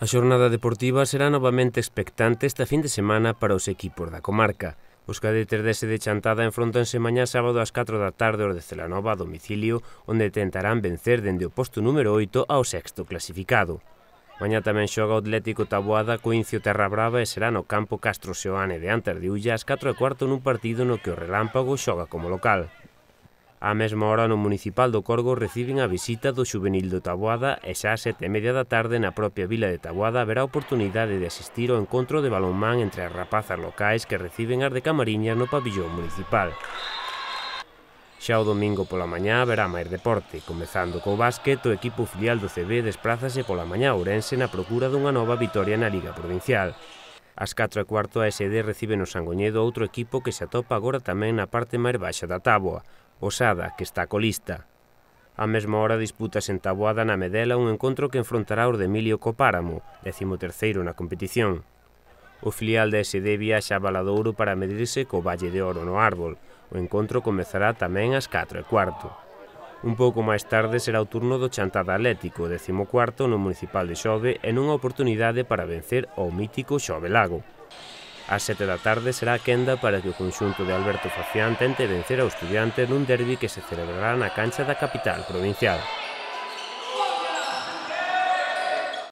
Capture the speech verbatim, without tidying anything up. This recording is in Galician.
A xornada deportiva será novamente expectante esta fin de semana para os equipos da comarca. Os cadetes dese de Chantada enfrontanse mañá sábado ás catro da tarde aos de Celanova a domicilio, onde tentarán vencer dende o posto número oito ao sexto clasificado. Mañá tamén xoga o Atlético Taboada co Incio Terra Brava e será no campo Castro Seoane de Antas de Ulla ás catro e cuarto nun partido no que o Relámpago xoga como local. Á mesma hora no Municipal do Corgo reciben a visita do Xuvenil do Taboada e xa ás sete e media da tarde na propia vila de Taboada haberá oportunidade de asistir ao encontro de balonmán entre as rapazas locais que reciben as de Camariñas no pabillón municipal. Xa o domingo pola mañá haberá máis deporte, comezando co básquet, o equipo filial do C B desprázase pola mañá a Ourense na procura dunha nova vitoria na Liga Provincial. Ás catro e cuarto a S D recibe no Sangoñedo outro equipo que se atopa agora tamén na parte máis baixa da táboa, o Sada, que está colista. Á mesma hora disputas en Taboada na Medela un encontro que enfrontará os de Emilio co Páramo, décimo terceiro na competición. O filial da S D viaxa a Valadouro para medirse co Valle de Oro no Árbol. O encontro comezará tamén ás catro e cuarto. Un pouco máis tarde será o turno do Chantada Atlético, décimo cuarto no Municipal de Xove e nunha oportunidade para vencer ao mítico Xove Lago. Ás sete da tarde será a quenda para que o conxunto de Alberto Facián tente vencer ao Estudiantes nun derbi que se celebrará na cancha da capital provincial.